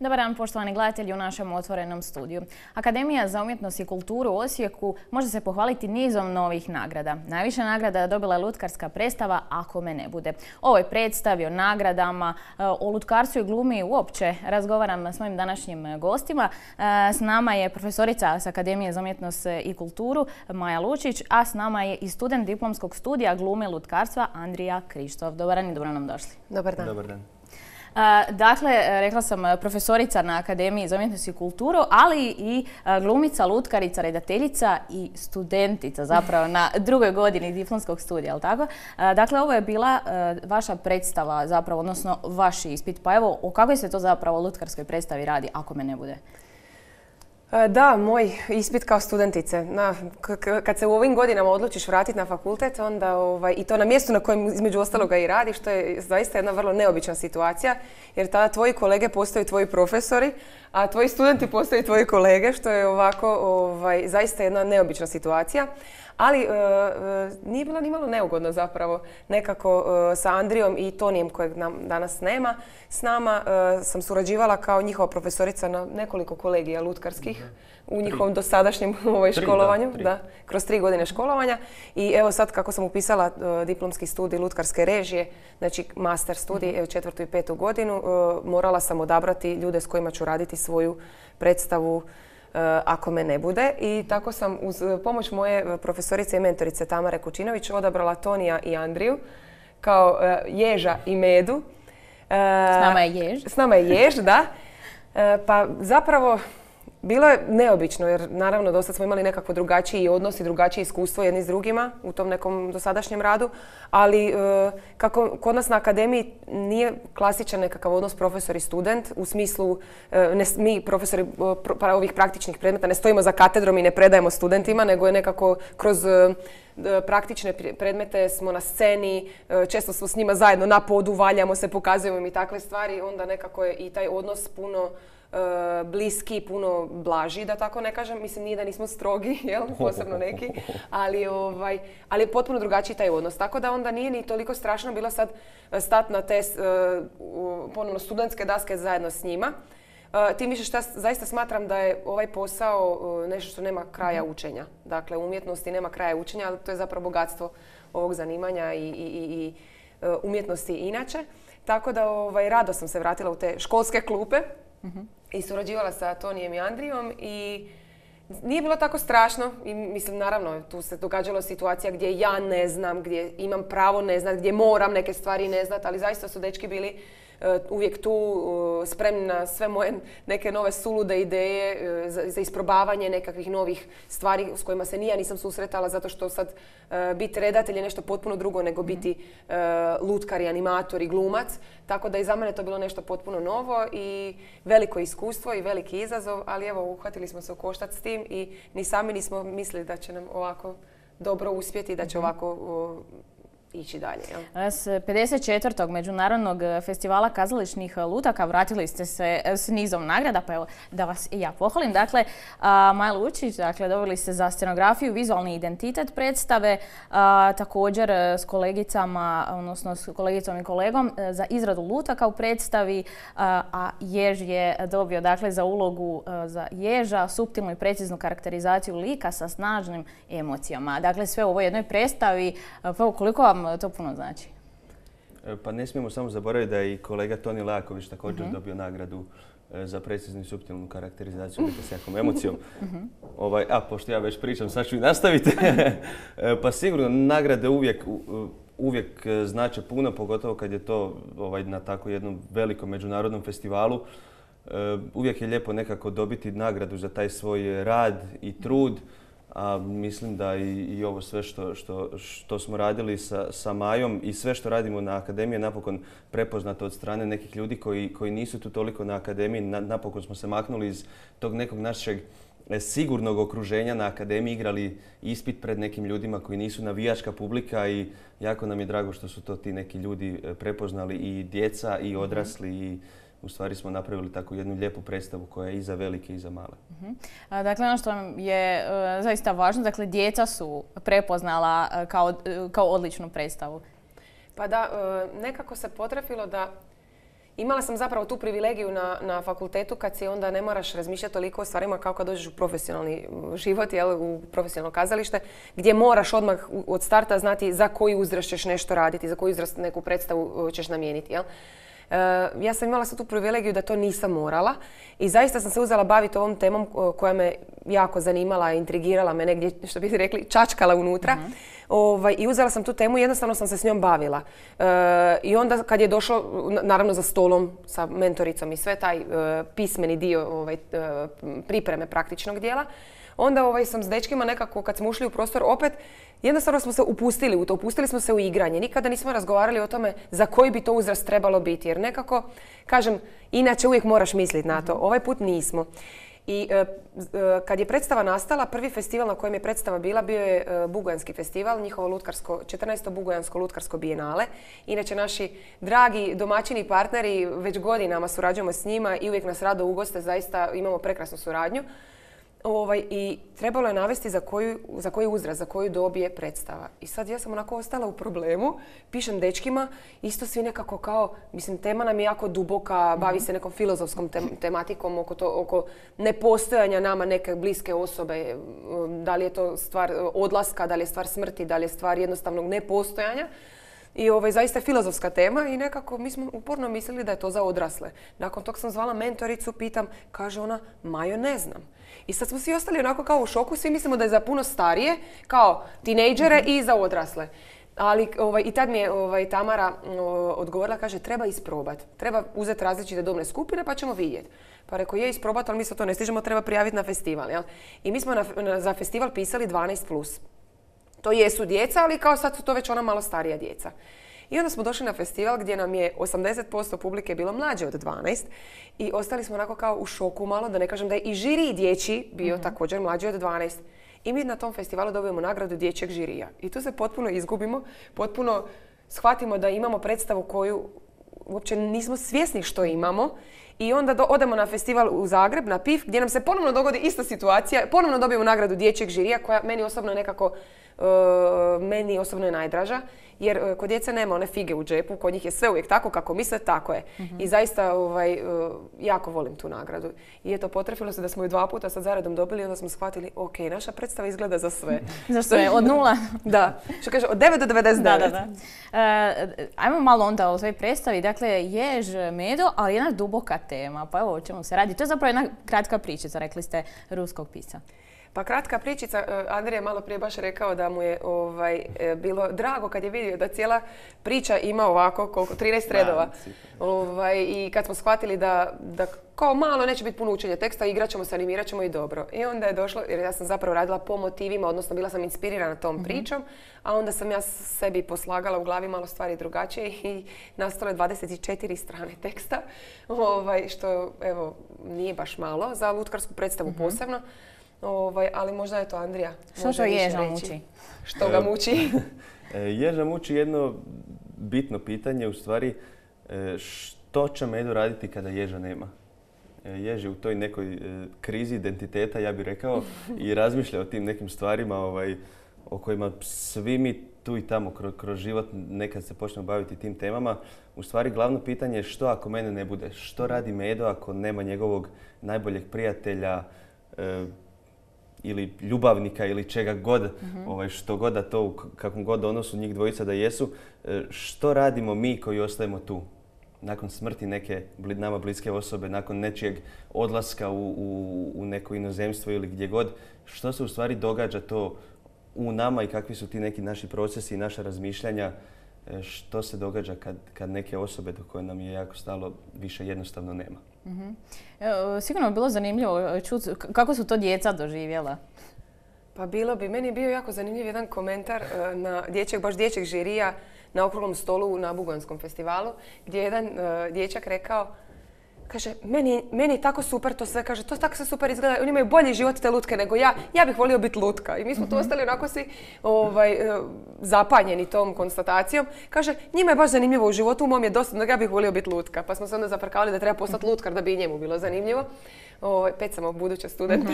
Dobar dan, poštovani gledatelji u našem otvorenom studiju. Akademija za umjetnost i kulturu u Osijeku može se pohvaliti nizom novih nagrada. Najviše nagrada je dobila lutkarska predstava Ako me ne bude. O ovoj predstavi, o nagradama, o lutkarstvu i glumi uopće razgovaram s mojim današnjim gostima. S nama je profesorica s Akademije za umjetnost i kulturu Maja Lučić, a s nama je i student diplomskog studija glume i lutkarstva Andrija Krištof. Dobar dan i dobro nam došli. Dobar dan. Dobar dan. Dakle, rekla sam profesorica na Akademiji za umjetnost i kulturu, ali i glumica, lutkarica, redateljica i studentica zapravo na drugoj godini diplomskog studija, je li tako? Dakle, ovo je bila vaša predstava zapravo, odnosno vaš ispit. Pa evo, o kakvoj se to zapravo lutkarskoj predstavi radi, ako me ne bude? Da, moj ispit kao studentice. Kad se u ovim godinama odlučiš vratiti na fakultet, onda i to na mjestu na kojem između ostaloga i radiš, to je zaista jedna vrlo neobična situacija, jer tada tvoji kolege postaju tvoji profesori, a tvoji studenti postaju tvoji kolege, što je ovako zaista jedna neobična situacija. Ali nije bila ni malo neugodno zapravo. Nekako sa Andrijom i Tonijem, kojeg nam danas nema, s nama sam surađivala kao njihova profesorica na nekoliko kolegija lutkarskih u njihovom dosadašnjem školovanju. Da, kroz 3 godine školovanja. I evo sad kako sam upisala diplomski studij lutkarske režije, znači master studij, 4. i 5. godinu, morala sam odabrati ljude s kojima ću raditi svoju predstavu Ako me ne bude. I tako sam uz pomoć moje profesorice i mentorice Tamare Kučinović odabrala Tonija i Andriju kao Ježa i Medu. S nama je Jež. S nama je Jež, da. Pa zapravo bilo je neobično jer naravno do sad smo imali nekako drugačiji odnos i drugačije iskustvo jedni s drugima u tom nekom dosadašnjem radu, ali kako kod nas na akademiji nije klasičan nekakav odnos profesor i student, u smislu mi profesori ovih praktičnih predmeta ne stojimo za katedrom i ne predajemo studentima, nego je nekako kroz praktične predmete smo na sceni, često smo s njima zajedno na podu, valjamo se, pokazujemo im i takve stvari, onda nekako je i taj odnos puno bliski, puno blaži, da tako ne kažem. Mislim, nije da nismo strogi, posebno neki, ali je potpuno drugačiji taj odnos. Tako da onda nije ni toliko strašno bilo sad stati na te ponovno studentske daske zajedno s njima. Tim više što zaista smatram da je ovaj posao nešto što nema kraja učenja. Dakle, u umjetnosti nema kraja učenja, ali to je zapravo bogatstvo ovog zanimanja i umjetnosti inače. Tako da rado sam se vratila u te školske klupe i surađivala sa Tonijem i Andrijom i nije bilo tako strašno i mislim naravno tu se događala situacija gdje ja ne znam, gdje imam pravo ne znati, gdje moram neke stvari ne znati, ali zaista su dečki bili uvijek tu spremni na sve moje neke nove sulude ideje za isprobavanje nekakvih novih stvari s kojima se ja nisam susretala, zato što sad biti redatelj je nešto potpuno drugo nego biti lutkar i animator i glumac. Tako da i za mene to bilo nešto potpuno novo i veliko iskustvo i veliki izazov, ali evo uhvatili smo se u koštac s tim i ni sami nismo mislili da će nam ovako dobro uspjeti i da će ovako ići dalje. S 54. Međunarodnog festivala kazališnih lutaka vratili ste se s nizom nagrada, pa evo da vas i ja pohvalim. Dakle, Maja Lučić, dobili ste za scenografiju, vizualni identitet predstave, također s kolegicama, odnosno s kolegicom i kolegom za izradu lutaka u predstavi, a Jež je dobio za ulogu za Ježa, suptilnu i preciznu karakterizaciju lika sa snažnim emocijama. Dakle, sve u ovoj jednoj predstavi, koliko vam to puno znači? Pa ne smijemo samo zaboraviti da je i kolega Toni Leaković također dobio nagradu za preciznu i suptilnu karakterizaciju lika s jakom emocijom. Pošto ja već pričam, sad ću i nastaviti. Pa sigurno nagrade uvijek znače puno, pogotovo kad je to na tako jednom velikom međunarodnom festivalu. Uvijek je lijepo nekako dobiti nagradu za taj svoj rad i trud. A mislim da i ovo sve što smo radili sa Majom i sve što radimo na akademiji je napokon prepoznato od strane nekih ljudi koji nisu tu toliko na akademiji. Napokon smo se maknuli iz tog nekog našeg sigurnog okruženja na akademiji, igrali ispit pred nekim ljudima koji nisu navijačka publika i jako nam je drago što su to ti neki ljudi prepoznali, i djeca i odrasli, i u stvari smo napravili takvu jednu lijepu predstavu koja je i za velike i za male. Dakle, ono što je zaista važno, dakle, djeca su prepoznala kao odličnu predstavu. Pa da, nekako se potrefilo da imala sam zapravo tu privilegiju na fakultetu kad si onda ne moraš razmišljati toliko o stvarima kao kad dođeš u profesionalni život, u profesionalno kazalište, gdje moraš odmah od starta znati za koji uzrast ćeš nešto raditi, za koji uzrast neku predstavu ćeš namijeniti. Ja sam imala tu privilegiju da to nisam morala i zaista sam se uzela baviti ovom temom koja me jako zanimala, intrigirala me negdje, što bi rekli, čačkala unutra. I uzela sam tu temu i jednostavno sam se s njom bavila. I onda kad je došlo, naravno za stolom sa mentoricom i sve taj pismeni dio pripreme praktičnog dijela, onda sam s dečkima nekako kad smo ušli u prostor opet, jednostavno smo se upustili u to, upustili smo se u igranje. Nikada nismo razgovarali o tome za koji bi to uzrast trebalo biti. Jer nekako, kažem, inače uvijek moraš misliti na to. Ovaj put nismo. I kad je predstava nastala, prvi festival na kojem je predstava bila bio je Bugojanski festival, njihovo 14. Bugojansko lutkarsko bijenale. Inače, naši dragi domaćini i partneri, već godinama surađujemo s njima i uvijek nas rado ugoste, zaista imamo prekrasnu suradnju. I trebalo je navesti za koji uzrast, za koju dob je predstava. I sad ja sam onako ostala u problemu, pišem dečkima, isto svi nekako kao, mislim, tema nam je jako duboka, bavi se nekom filozofskom tematikom oko nepostojanja nama neke bliske osobe, da li je to stvar odlaska, da li je stvar smrti, da li je stvar jednostavnog nepostojanja. I zaista je filozofska tema i nekako mi smo uporno mislili da je to za odrasle. Nakon tog sam zvala mentoricu, pitam, kaže ona, Majo, ne znam. I sad smo svi ostali onako kao u šoku, svi mislimo da je za puno starije, kao tinejdžere i za odrasle. Ali i tad mi je Tamara odgovorila, kaže, treba isprobati. Treba uzeti različite dobne skupine pa ćemo vidjeti. Pa rekao, je isprobati, ali mi se to ne stižemo, treba prijaviti na festival. Jel? I mi smo za festival pisali 12+. To jesu djeca, ali kao sad su to već ona malo starija djeca. I onda smo došli na festival gdje nam je 80% publike bilo mlađe od 12 i ostali smo onako kao u šoku malo, da ne kažem da je i žiri dječji bio također mlađi od 12. I mi na tom festivalu dobijemo nagradu dječjeg žirija. I tu se potpuno izgubimo, potpuno shvatimo da imamo predstavu koju uopće nismo svjesni što imamo. I onda odemo na festival u Zagreb, na PIF, gdje nam se ponovno dogodi ista situacija. Ponovno dobijemo nagradu dječjeg žirija koja meni osobno je najdraža. Jer kod djece nema one fige u džepu, kod njih je sve uvijek tako kako misle, tako je. I zaista jako volim tu nagradu. I eto, potrefilo se da smo ju 2 puta sad zaredom dobili i onda smo shvatili, ok, naša predstava izgleda za sve. Za sve, od 0. Da, što kaže, od 9 do 99. Da. Ajmo malo onda o svojoj predstavi. Dakle, jež, medo, ali jedna duboka tema. Pa evo o čemu se radi. To je zapravo jedna kratka pričica, rekli ste, ruskog pisca. Pa kratka pričica, Andrija je malo prije baš rekao da mu je bilo drago kad je vidio da cijela priča ima ovako 13 redova. I kad smo shvatili da kao malo neće biti puno učenja teksta, igrat ćemo se, animirat ćemo i dobro. I onda je došlo, jer ja sam zapravo radila po motivima, odnosno bila sam inspirirana tom pričom, a onda sam ja sebi poslagala u glavi malo stvari drugačije i nastalo je 24 strane teksta, što evo nije baš malo za lutkarsku predstavu posebno. Ali možda je to Andrija. Što ježa muči? Što ga muči? Ježa muči jedno bitno pitanje, u stvari, što će Medo raditi kada ježa nema? Jež je u toj nekoj krizi identiteta, ja bih rekao, i razmišlja o tim nekim stvarima o kojima svi mi tu i tamo kroz život nekad se počnemo baviti tim temama. U stvari, glavno pitanje je što ako mene ne bude? Što radi Medo ako nema njegovog najboljeg prijatelja, ili ljubavnika ili čega god, što god da to u kakvom god odnosu njih dvojica da jesu, što radimo mi koji ostajemo tu? Nakon smrti neke nama bliske osobe, nakon nečijeg odlaska u neko inozemstvo ili gdje god, što se u stvari događa to u nama i kakvi su ti neki naši procesi i naša razmišljanja, što se događa kad neke osobe do koje nam je jako stalo više jednostavno nema. Sigurno bi bilo zanimljivo čuti kako su to djeca doživjela. Pa meni je bio jako zanimljiv jedan komentar baš dječjeg žirija na okruglom stolu na Bugojanskom festivalu, gdje je jedan dječak rekao, kaže, meni je tako super to sve, kaže, to tako sve super izgleda, oni imaju bolji život te lutke nego ja bih volio biti lutka. I mi smo tu ostali onako svi zapanjeni tom konstatacijom. Kaže, njima je baš zanimljivo u životu, u mom je dosta, ja bih volio biti lutka. Pa smo se onda zafrkavali da treba postati lutkar da bi i njemu bilo zanimljivo. Pet samo buduće studente.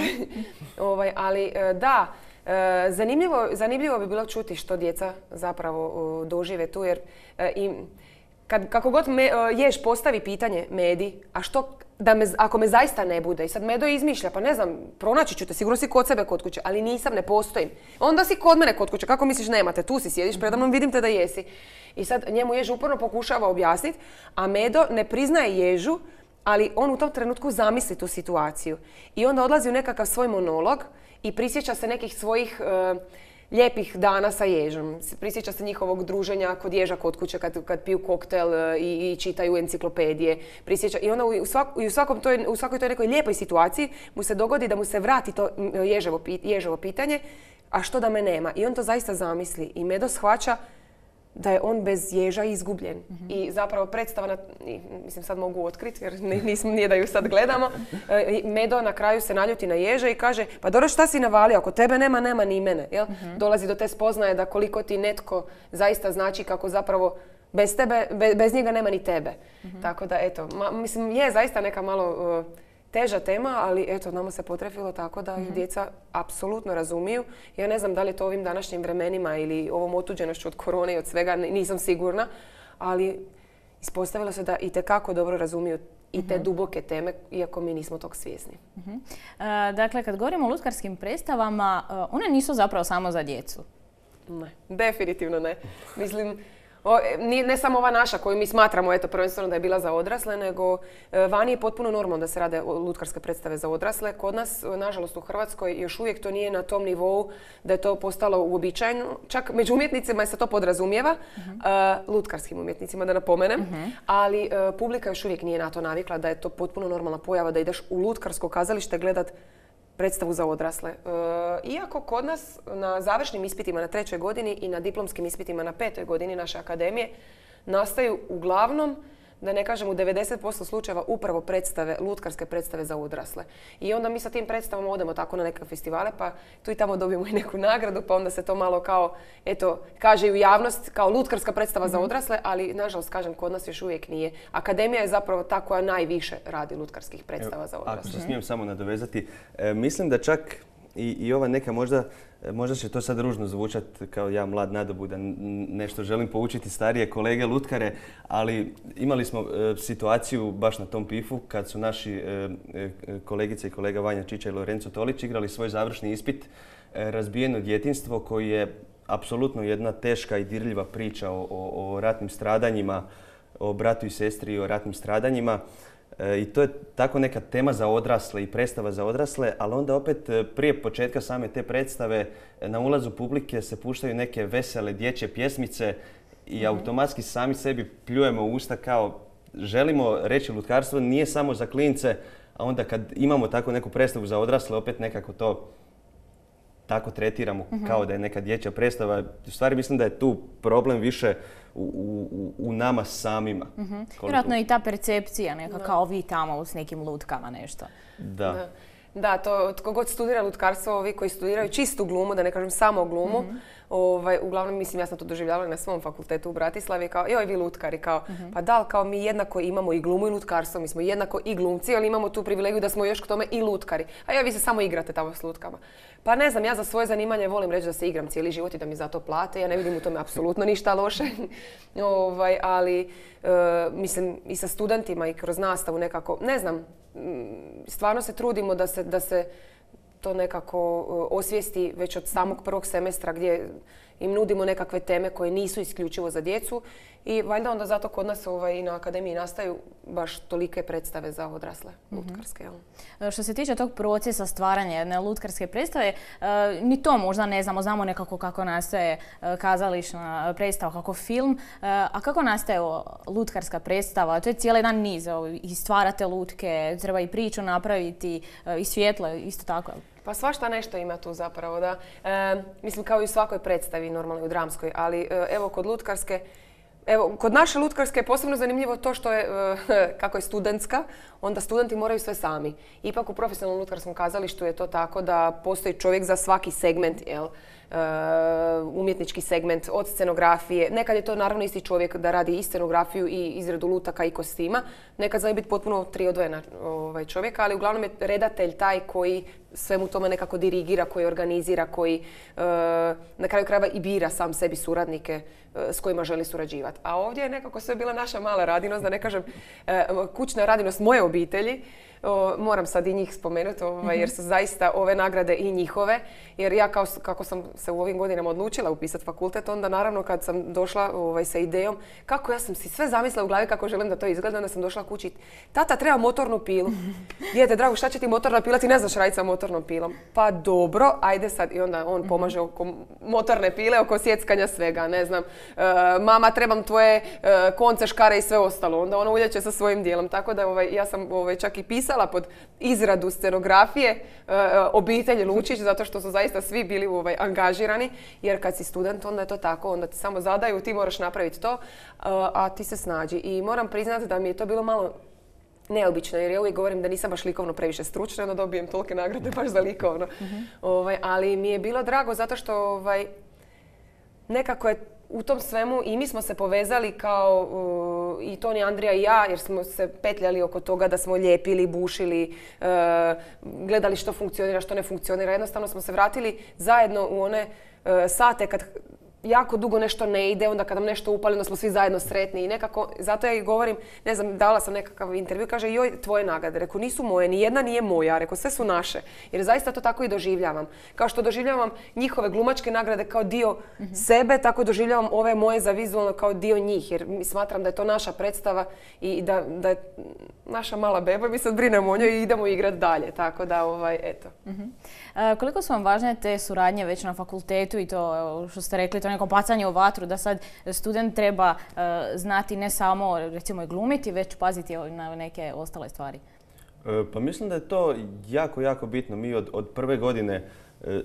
Ali da, zanimljivo bi bilo čuti što djeca zapravo dožive tu, jer kako god Jež postavi pitanje Medi, a što ako me zaista ne bude, i sad Medo izmišlja, pa ne znam, pronaći ću te, sigurno si kod sebe kod kuće, ali nisam, ne postojim. Onda si kod mene kod kuće, kako misliš nemate, tu si sjediš predamnom, vidim te da jesi. I sad njemu Jež uporno pokušava objasniti, a Medo ne priznaje Ježu, ali on u tom trenutku zamisli tu situaciju. I onda odlazi u nekakav svoj monolog i prisjeća se nekih svojih lijepih dana sa Ježom. Prisjeća se njihovog druženja kod Ježa kod kuće kad piju koktel i čitaju enciklopedije. I onda u svakoj toj nekoj lijepoj situaciji mu se dogodi da mu se vrati to Ježevo pitanje, a što da me nema? I on to zaista zamisli. I Medo shvaća da je on bez Ježa izgubljen. I zapravo predstava, mislim sad mogu otkriti jer nije da ju sad gledamo, Medo na kraju se naljuti na Ježa i kaže pa dobro šta si navalio, ako tebe nema ni mene. Jel? Dolazi do te spoznaje da koliko ti netko zaista znači kako zapravo bez tebe, bez njega nema ni tebe. Tako da eto, mislim je zaista neka malo teža tema, ali eto, nama se potrefilo tako da ih djeca apsolutno razumiju. Ja ne znam da li je to ovim današnjim vremenima ili ovom otuđenošću od korone i od svega, nisam sigurna, ali ispostavilo se da itekako dobro razumiju i te duboke teme, iako mi nismo tog svjesni. Dakle, kad govorimo o lutkarskim predstavama, one nisu zapravo samo za djecu. Ne, definitivno ne. Mislim, ne samo ova naša koju mi smatramo prvenstveno da je bila za odrasle, nego vani je potpuno normalno da se rade lutkarske predstave za odrasle. Kod nas, nažalost u Hrvatskoj, još uvijek to nije na tom nivou da je to postalo uobičajeno. Čak među umjetnicima se to podrazumijeva, lutkarskim umjetnicima da napomenem, ali publika još uvijek nije na to navikla da je to potpuno normalna pojava da ideš u lutkarsko kazalište gledat predstavu za odrasle. Iako kod nas na završnim ispitima na 3. godini i na diplomskim ispitima na 5. godini naše akademije nastaju uglavnom, da ne kažem u 90% slučajeva, upravo predstave, lutkarske predstave za odrasle. I onda mi sa tim predstavama odemo tako na neke festivale, pa tu i tamo dobijemo i neku nagradu, pa onda se to malo kao, kaže i u javnost kao lutkarska predstava za odrasle, ali nažalost, kažem, kod nas još uvijek nije. Akademija je zapravo ta koja najviše radi lutkarskih predstava za odrasle. Ako se smijem samo nadovezati, mislim da čak i ova neka možda će to sad ružno zvučati kao ja mlad nadobudan, nešto želim poučiti starije kolege lutkare, ali imali smo situaciju baš na tom PIF-u kad su naši kolegice i kolega Vanja Čiča i Lorenzo Tolić igrali svoj završni ispit Razbijeno djetinjstvo, koji je apsolutno jedna teška i dirljiva priča o ratnim stradanjima, o bratu i sestri i o ratnim stradanjima. I to je tako neka tema za odrasle i predstava za odrasle, ali onda opet prije početka same te predstave na ulazu publike se puštaju neke vesele dječje pjesmice i automatski sami sebi pljujemo u usta kao želimo reći lutkarstvo nije samo za klince, a onda kad imamo tako neku predstavu za odrasle opet nekako to tako tretiramo kao da je neka dječja predstava. U stvari mislim da je tu problem više u nama samima. Vjerojatno i ta percepcija neka kao vi tamo s nekim lutkama nešto. Da, to tko god studira lutkarstvo, ovi koji studiraju čistu glumu, da ne kažem samo glumu, uglavnom, mislim, ja sam to doživljavala na svom fakultetu u Bratislavi, kao, joj, vi lutkari, kao, pa da li, kao mi jednako imamo i glumu i lutkarstvo, mi smo jednako i glumci, ali imamo tu privilegiju da smo još k tome i lutkari. A vi se samo igrate tamo s lutkama. Pa ne znam, ja za svoje zanimanje volim reći da se igram cijeli život i da mi za to plate, ja ne vidim u tome apsolutno ništa loše, ali mislim i sa studentima i kroz nastavu nekako, ne znam, stvarno se trudimo da se to nekako osvijesti već od samog prvog semestra gdje im nudimo nekakve teme koje nisu isključivo za djecu i valjda onda zato kod nas i na akademiji nastaju baš tolike predstave za odrasle lutkarske. Što se tiče tog procesa stvaranja jedne lutkarske predstave, ni to možda ne znamo, znamo nekako kako nastaje kazališna predstava, kako film, a kako nastaje lutkarska predstava? To je cijeli jedan niz, i stvarate lutke, treba i priču napraviti, i svjetlo, isto tako. Pa svašta nešto ima tu zapravo, da. Mislim kao i u svakoj predstavi, normalno i u dramskoj, ali evo kod lutkarske, kod naše lutkarske je posebno zanimljivo to što je, kako je studentska, onda studenti moraju sve sami. Ipak u profesionalnom lutkarskom kazalištu je to tako da postoji čovjek za svaki segment, umjetnički segment, od scenografije. Nekad je to naravno isti čovjek da radi i scenografiju i izradu lutaka i kostima. Nekad zna biti potpuno tri odvojena čovjeka, ali uglavnom je redatelj taj koji svemu tome nekako dirigira, koji organizira, koji na kraju krajeva i bira sam sebi suradnike s kojima želi surađivati. A ovdje je nekako sve bila naša mala radinost, da ne kažem kućna radinost moje obitelji. Moram sad i njih spomenuti jer su zaista ove nagrade i njihove. Jer ja kako sam se u ovim godinama odlučila upisati fakultet, onda naravno kad sam došla sa idejom, kako ja sam si sve zamislila u glavi kako želim da to izgleda, onda sam došla kući. Tata, treba motornu pilu. Dijete, drago, šta će ti motorna pila? Ti ne znaš raditi sa motornom pilom. Pa dobro, ajde sad. I onda on pomaže oko motorne pile, oko sjeckanja svega, ne znam. Mama, trebam tvoje konce, škare i sve ostalo. Onda ona uljeće sa svojim dijelom. Tako da ja sam čak i pisala pod izradu scenografije obitelji Lučić, zato što su zaista svi bili angažirani, jer kad si student onda je to tako, onda ti samo zadaju, ti moraš napraviti to, a ti se snađi. I moram priznati da mi je to bilo malo neobično, jer ja uvijek govorim da nisam baš likovno previše stručna, onda dobijem tolike nagrade baš za likovno. Ali mi je bilo drago zato što nekako je u tom svemu i mi smo se povezali kao i Toni, Andrija i ja, jer smo se petljali oko toga da smo lijepili, bušili, gledali što funkcionira, što ne funkcionira. Jednostavno smo se vratili zajedno u one sate kad jako dugo nešto ne ide, onda kad nam nešto upali, onda smo svi zajedno sretni i nekako, zato ja i govorim, ne znam, dala sam nekakav intervju, kaže joj, tvoje nagrade. Rekao, nisu moje, ni jedna nije moja, rekao, sve su naše. Jer zaista to tako i doživljavam. Kao što doživljavam njihove glumačke nagrade kao dio sebe, tako doživljavam ove moje za vizualno kao dio njih, jer smatram da je to naša predstava i da je naša mala beba i mi sad brinemo o njoj i idemo igrati dalje, tako da, eto. Koliko su vam važne te suradnje već na fakultetu i to što ste rekli, to neko bacanje u vatru, da sad student treba znati ne samo recimo i glumiti, već paziti na neke ostale stvari? Pa mislim da je to jako, jako bitno. Mi od prve godine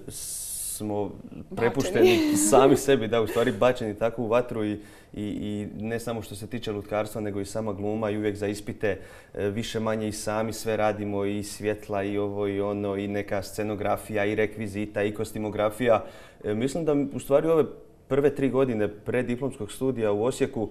smo prepušteni sami sebi, da u stvari bačeni tako u vatru i ne samo što se tiče lutkarstva, nego i sama gluma i uvijek za ispite više manje i sami sve radimo i svjetla i ovo i ono i neka scenografija i rekvizita i kostimografija. Mislim da u stvari ove prve 3 godine preddiplomskog studija u Osijeku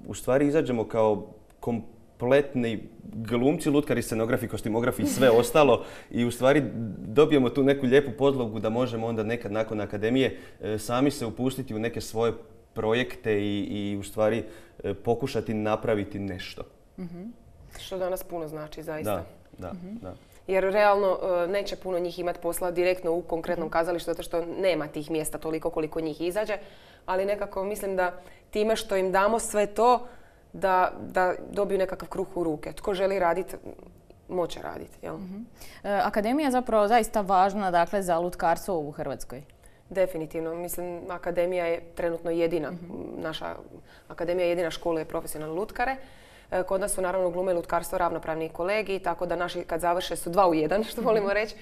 u stvari izađemo kao kompletni glumci, lutkari, scenografi, kostimografi i sve ostalo i u stvari dobijemo tu neku lijepu podlogu da možemo onda nekad nakon akademije sami se upustiti u neke svoje projekte i u stvari pokušati napraviti nešto. Što danas puno znači, zaista. Da. Jer realno neće puno njih imati posla direktno u konkretnom kazalištu, zato što nema tih mjesta toliko koliko njih izađe, ali nekako mislim da time što im damo sve to, da dobiju nekakav kruh u ruke. Tko želi raditi, moće raditi. Jel? Akademija je zapravo zaista važna, dakle, za lutkarstvo u Hrvatskoj. Definitivno. Mislim, akademija je trenutno jedina. Naša akademija jedina školuje profesionalne lutkare. Kod nas su naravno glume i lutkarstvo ravnopravni kolegi, tako da naši kad završe su 2 u 1, što volimo reći.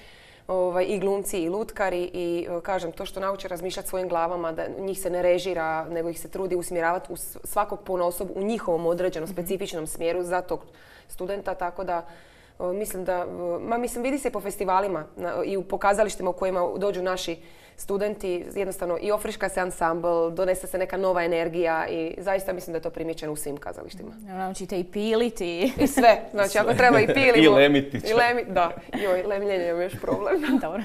I glumci i lutkari i kažem to što nauče razmišljati svojim glavama, da njih se ne režira, nego ih se trudi usmjeravati u svakog ponaosob u njihovom određenom specifičnom smjeru za tog studenta, tako da mislim vidi se po festivalima i u pokazalištima u kojima dođu naši studenti, jednostavno i ofriška se ansambl, donese se neka nova energija i zaista mislim da je to primijećeno u svim kazalištima. Naučite i piliti. I sve, znači ako treba i pilimo. I lemiti. Da, lemljenje je još problem. Dobro,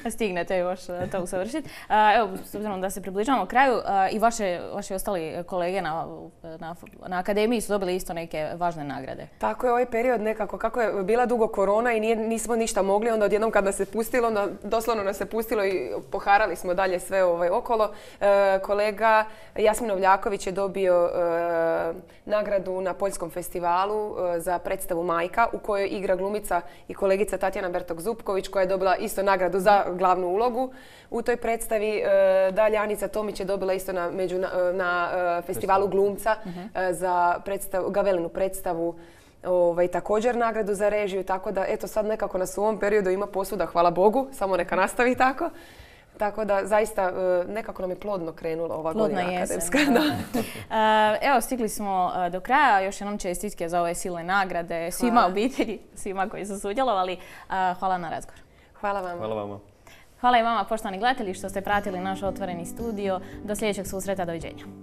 stignete još to usavršiti. Evo, s obzirom da se približavamo kraju, i vaši ostali kolege na akademiji su dobili isto neke važne nagrade. Tako je ovaj period nekako, kako je bila dugo korona i nismo ništa mogli, onda odjednom kad nas se pustilo, onda doslovno nas se pustilo i poharali smo dalje sve okolo. Kolega Jasmin Ovljaković je dobio nagradu na Poljskom festivalu za predstavu Majka u kojoj igra glumica i kolegica Tatjana Bertok-Zupković koja je dobila isto nagradu za glavnu ulogu u toj predstavi. Dalje Anica Tomić je dobila isto na festivalu glumca za Gavelinu predstavu. Također nagradu za režiju, tako da eto sad nekako nas u ovom periodu ima posvuda, hvala Bogu, samo neka nastavi tako. Tako da zaista nekako nam je plodno krenulo ova godina akademska. Evo, stigli smo do kraja. Još jednom čestitke za ove silne nagrade svima obitelji, svima koji su sudjelovali. Hvala na razgovor. Hvala vam. Hvala vama. Hvala i vama, poštovani gledatelji, što ste pratili naš otvoreni studio. Do sljedećeg susreta, doviđenja.